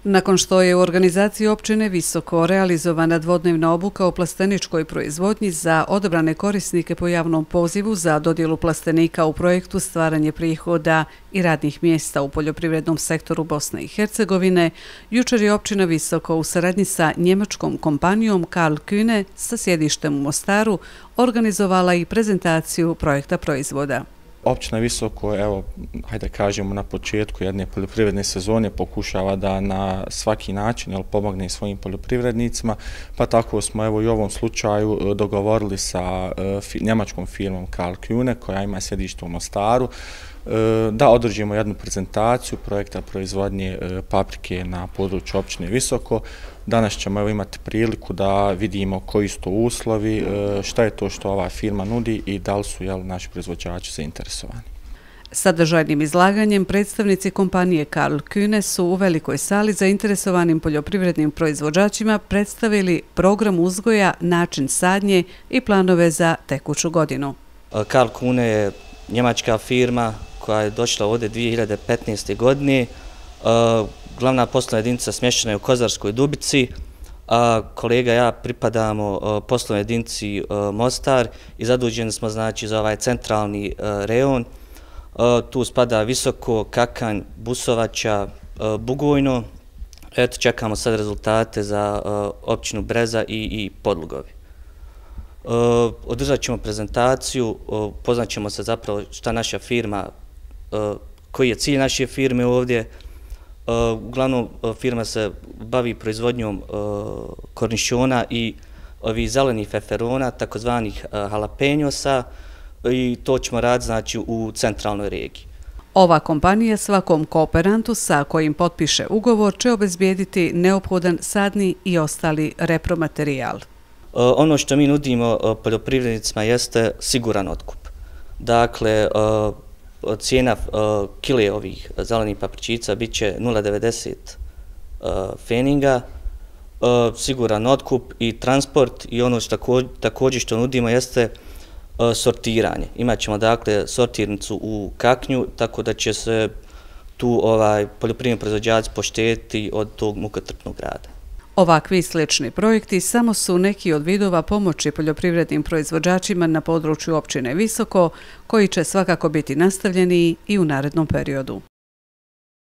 Nakon što je u organizaciji općine Visoko realizovana dvodnevna obuka o plasteničkoj proizvodnji za odabrane korisnike po javnom pozivu za dodjelu plastenika u projektu Stvaranje prihoda i radnih mjesta u poljoprivrednom sektoru Bosne i Hercegovine, jučer je općina Visoko u saradnji sa njemačkom kompanijom Karl Kühne sa sjedištem u Mostaru organizovala i prezentaciju projekta proizvoda. Općina Visoko, evo, hajde kažemo na početku jedne poljoprivredne sezone pokušava da na svaki način pomogne svojim poljoprivrednicima, pa tako smo evo i u ovom slučaju dogovorili sa njemačkom firmom Karl Kühne koja ima sjedište u Mostaru da održimo jednu prezentaciju projekta proizvodnje paprike na području općine Visoko. Danas ćemo imati priliku da vidimo koji su to uslovi, šta je to što ova firma nudi i da li su naši proizvođači zainteresovani. Sadržajnim izlaganjem predstavnici kompanije Karl Kühne su u velikoj sali zainteresovanim poljoprivrednim proizvođačima predstavili program uzgoja, način sadnje i planove za tekuću godinu. Karl Kühne je njemačka firma koja je došla ovdje 2015. godine. Glavna poslovna jedinica smještena je u Kozarskoj Dubici, a kolega i ja pripadamo poslovnoj jedinici Mostar i zaduženi smo znači za ovaj centralni rejon. Tu spada Visoko, Kakanj, Busovača, Bugojno. Eto, čekamo sad rezultate za općinu Breza i Podlugovi. Održat ćemo prezentaciju, upoznat ćemo se zapravo šta naša firma, koji je cilj naše firme ovdje. Uglavnom, firma se bavi proizvodnjom kornišona i ovih zelenih feferona, takozvanih jalapeñosa, i to ćemo raditi znači u centralnoj regiji. Ova kompanija svakom kooperantu sa kojim potpiše ugovor će obezbijediti neophodan sadni i ostali repromaterijal. Ono što mi nudimo poljoprivrednicima jeste siguran otkup. Dakle, cijena kile ovih zelenih papričica bit će 0,90 feninga, siguran otkup i transport, i ono što također što nudimo jeste sortiranje. Imaćemo dakle sortirnicu u Kaknju, tako da će se tu poljoprivredni proizvođači poštedjeti od tog mukotrpnog rada. Ovakvi slični projekti samo su neki od vidova pomoći poljoprivrednim proizvođačima na području općine Visoko, koji će svakako biti nastavljeni i u narednom periodu.